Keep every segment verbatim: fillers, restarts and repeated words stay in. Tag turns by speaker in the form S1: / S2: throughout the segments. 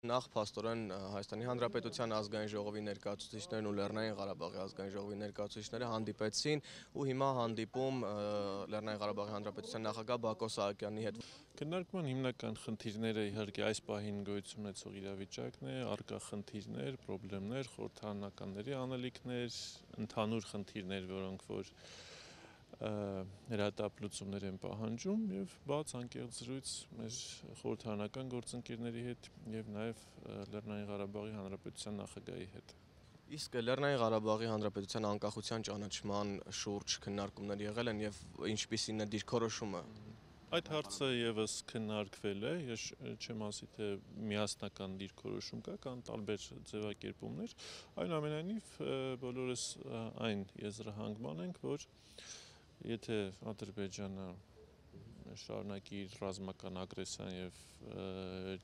S1: Նախ փաստորեն Հայաստանի Հանրապետության ազգային ժողովի ներկայացուցիչներն ու Լեռնային Ղարաբաղի ազգային ժողովի ներկայացուցիչները հանդիպեցին ու հիմա հանդիպում Լեռնային Ղարաբաղի Հանրապետության նախագահ Բակո Սահակյանի հետ։
S2: Քննարկման հիմնական խնդիրները իհարկե այս պահին գոյություն ունեցող իրավիճակն է, առկա խնդիրներ, խնդիրներ, խորհրդարանականների անելիքներ, ընդհանուր խնդիրներ, որոնք որ հրատապ լուծումներ են պահանջում եւ բաց անկեղծ զրույց մեր խորհրդարանական գործընկերների հետ եւ նաեւ Լեռնային Ղարաբաղի Հանրապետության նախագահի հետ։
S1: Իսկ Լեռնային Ղարաբաղի Հանրապետության անկախության ճանաչման շուրջ քննարկումներ եղել են եւ ինչպիսին է դիրքորոշումը։
S2: Այդ հարցը եւս քննարկվել է, ես չեմ ասի թե միասնական դիրքորոշում կա, կան տարբեր ձևակերպումներ, այնուամենայնիվ բոլորս այն եզրահանգման ենք, որ եթե Ադրբեջանը շարունակի իր ռազմական ագրեսիան եւ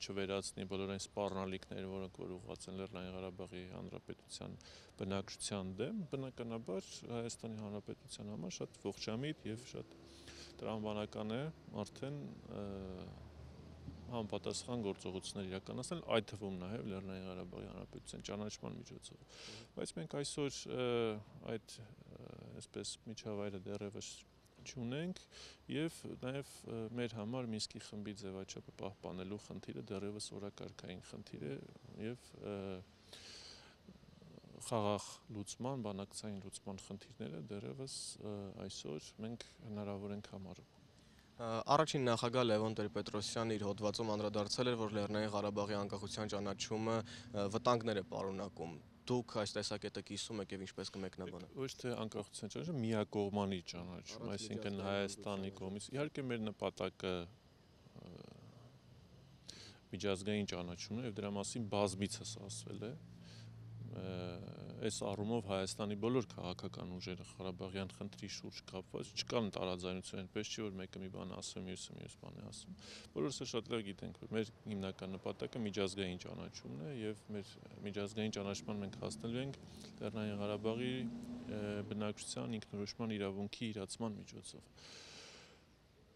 S2: չվերացնի բոլոր այն սպառնալիքները, որոնք որ ուղղված են Լեռնային Ղարաբաղի Հանրապետության բնակչության դեմ, բնականաբար Հայաստանի Հանրապետության համար շատ ողջամիտ եւ շատ տրամաբանական է արդեն համապատասխան գործողություններ իրականացնել, այդ թվում նաև Լեռնային Ղարաբաղի Հանրապետության ճանաչման միջոցով։ Բայց մենք այսօր այդ այսպես միջավայրը դեռևս չունենք եւ նաեւ մեր համար Մինսկի խմբի ձևաչափը պահպանելու խնդիրը դեռևս օրակարգային խնդիր է եւ խաղաղ լուծման, բանակցային լուծման խնդիրները դեռևս այսօր մենք հնարավոր ենք համարում։
S1: Առաջին նախագահ Լևոն Տեր-Պետրոսյանը իր հոդվածում անդրադարձել էր, որ Լեռնային Ղարաբաղի անկախության ճանաչումը վտանգներ է պարունակում։ Դուք այս տեսակետը կիսում եք եւ ինչպես կմեկնաբանեք։
S2: Ոչ թե անկախության ճանաչումը, միակողմանի ճանաչում, այսինքն Հայաստանի կողմից։ Իհարկե մեր նպատակը միջազգային ճանաչումն է եւ դրա մասին բազմիցս ասվել է։ Այս առումով Հայաստանի բոլոր քաղաքական ուժերը Ղարաբաղյան խնդրի շուրջ կապված չկան տարաձայնություն, այնպես չի որ մեկը մի բան ասում, մյուսը մյուս բան է ասում։ Բոլորս շատ լավ գիտենք, որ մեր հիմնական նպատակը միջազգային ճանաչումն է եւ մեր միջազգային ճանաչման մենք հասնելու ենք Լեռնային Ղարաբաղի բնակչության ինքնորոշման իրավունքի իրացման միջոցով։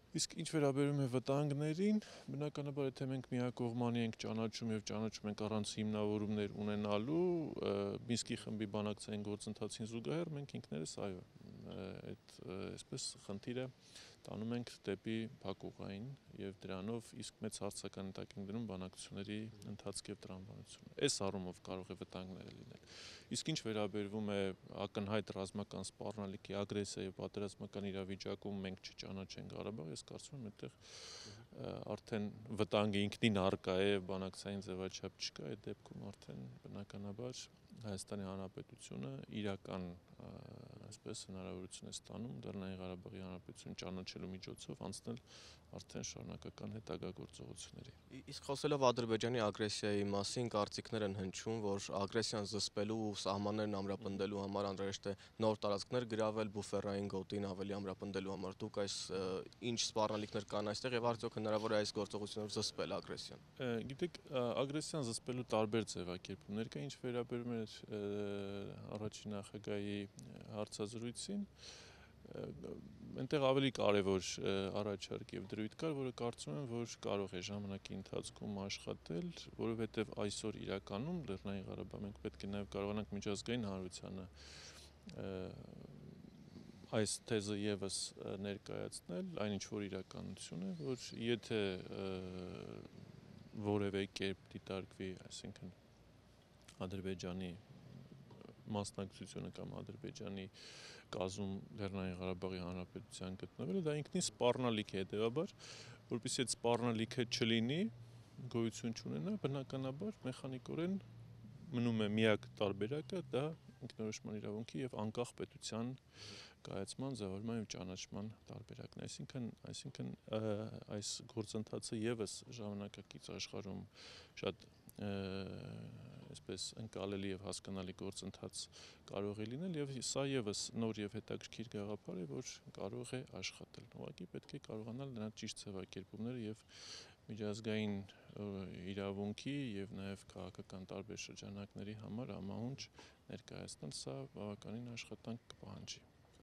S2: Իսկ ինչ վերաբերում է վտանգներին, բնականաբար եթե մենք միակողմանի ենք ճանաչում եւ ճանաչում ենք առանց հիմնավորումներ ունենալու Մինսկի խմբի բանակցային գործընթացին զուգահեռ մենք ինքներս այո այդ այսպես խնդիրը տանում ենք դեպի փակուղային եւ դրանով իսկ մեծ հարցական տակ ենք դնում բանակցությունների ընթացք եւ տրամաբանությունը։ Այս առումով կարող է վտանգներ լինել։ Իսկ ինչ վերաբերվում է ակնհայտ ռազմական սպառնալիքի ագրեսիայի եւ պատերազմական իրավիճակում մենք չճանաչենք Ղարաբաղը, ես կարծում եմ այդտեղ արդեն վտանգը ինքնին առկա է, բանակցային ձևաչափ չկա, այդ դեպքում արդեն բնականաբար Հայաստանի Հանրապետությունը իրական այսպես հնարավորություն է ստանում Լեռնային Ղարաբաղի Հանրապետություն ճանաչելու միջոցով անցնել արդեն շարունակական հետագա գործողությունների։
S1: Իսկ խոսելով Ադրբեջանի ագրեսիայի մասին, կարծիքներ են հնչում, որ ագրեսիան զսպելու ու սահմաններն ամրապնդելու համար անհրաժեշտ է նոր տարածքներ գրավել, բուֆերային գոտին ավելի ամրապնդելու համար։ Դուք այս ինչ սպառնալիքներ կան այստեղ եւ արդյոք հնարավոր է այս գործողությունով զսպել ագրեսիան։
S2: Գիտեք, ագրեսիան զսպելու տարբեր ձևակերպումներ կա, ինչ վերաբերում է առաջին նախագահի հարցազրույցին, այնտեղ ավելի կարևոր առաջարկ եւ դրույթ կար, որը կարծում եմ, որ կարող է ժամանակի ընթացքում աշխատել, որովհետեւ այսօր իրականում Լեռնային Ղարաբաղ մենք պետք է նաեւ կարողանանք միջազգային հանրությանը այս թեզը եւս ներկայացնել, այնինչ որ իրականություն է, որ եթե որևէ կերպ դիտարկվի, այսինքն Ադրբեջանի մասնակցությունը կամ Ադրբեջանի կազմում Լեռնային Ղարաբաղի Հանրապետության գտնվելը, դա ինքնին սպառնալիք է, հետեւաբար, որպեսզի այդ սպառնալիքը չլինի, գոյություն չունենա, բնականաբար մեխանիկորեն մնում է միակ տարբերակը, դա ինքնորոշման իրավունքի եւ անկախ պետության կայացման, ձևավորման եւ ճանաչման տարբերակն է, այսինքն, այսինքն այս գործընթացը եւս ժամանակակից աշխարհում շատ այսպես ընկալելի եւ հասկանալի գործընթաց կարող է լինել եւ սա եւս նոր եւ հետաքրքիր գաղափար է, որ կարող է աշխատել։ Ուղղակի պետք է կարողանալ դրա ճիշտ ձևակերպումները եւ միջազգային իրավունքի եւ նաեւ քաղաքական տարբեր շրջանակների համար համահունչ ներկայացնել, սա բավականին աշխատանք կպահանջի։